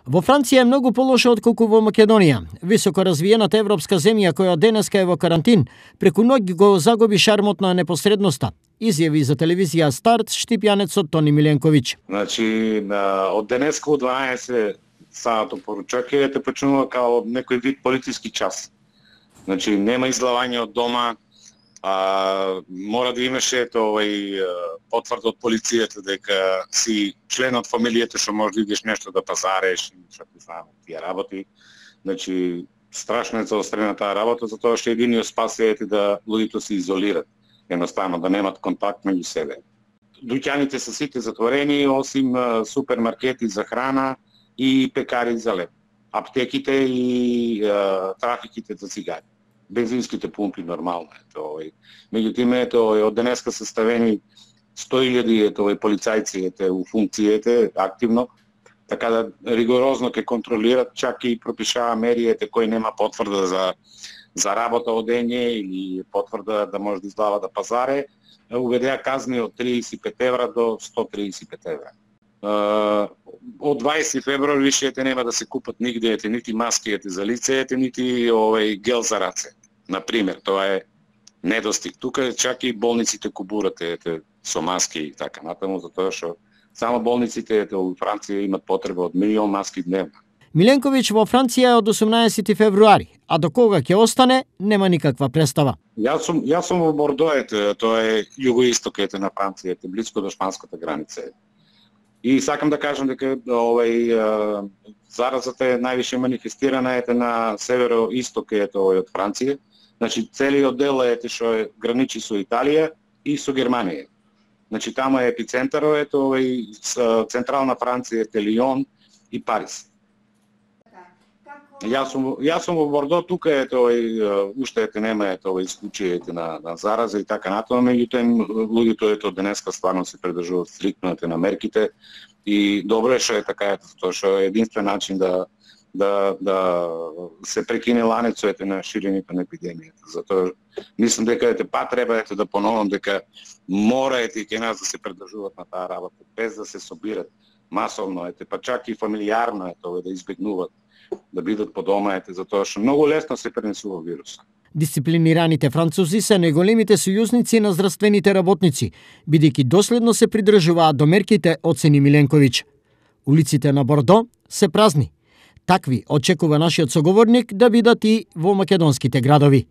Во Франција е многу полошо отколку во Македонија. Високо развиената европска земја која денеска е во карантин, преку ноќ го загуби шармот на непосредноста, изјави за телевизија Старт штипјанецот Тони Миленковиќ. Значи, од денеска од 12 саато поручаќајте почнува као некој вид политички час. Значи, нема излавање од дома, мора да имаше потврда од полицијата дека си член од фамилијата што може да идеш нешто да пазареш и што ти знам тие работи. Значи, страшно е заострена таа работа, затоа што единиот спас е да луѓето се изолират, едноставно да немат контакт меѓу себе. Дуќаните се сите затворени, осим супермаркети за храна и пекари за леб. Аптеките и трафиките за цигари. Бензинските пумпи нормално е. Меѓутоа од денеска се ставени 100.000 полицајци у функцијите активно, така да ригорозно ќе контролират, чак и пропишава мери кој нема потврда за работа од дење или потврда да може да издава да пазаре, уведеа казни од 35 евра до 135 евра. Од 20 февруари више нема да се купат нигде нити маски за лице, нити гел за раце. Например, тоа е недостиг. Тука чак и болниците кубурат со маски и така натаму, затоа што само болниците во Франција имат потреба од 1 милион маски дневно. Миленковиќ во Франција од 18 февруари, а до кога ќе остане, нема никаква представа. Јас сум во Бордо, тоа е југоисток на Франција, близко до шпанската граница. И сакам да кажам дека заразата е највише манифестирана на северо-исток од Франција. Значи целиот дел што граничи со Италија и со Германија. Значи таму е епицентарот, централна Франција е Лион и Париз. Јас сум во Бордо, тука уште нема исклучие на зараза и така натаму, меѓутоа луѓето денеска стварно се прдржуваат стриктно на мерките и добро е што е така, затоа што е единствен начин да се прекине ланецот на ширењето на епидемијата. Затоа мислам дека треба да поновам дека мора ќе нас да се прдржуваат на таа работа, без да се собират масовно, па чак и фамилиарно да избегнуваат да бидат по дома, затоа што многу лесно се пренесува вирусот. Дисциплинираните французи се најголемите сојузници на здравствените работници, бидејќи доследно се придржуваат до мерките, оцени Миленковиќ. Улиците на Бордо се празни. Такви очекува нашиот соговорник да бидат и во македонските градови.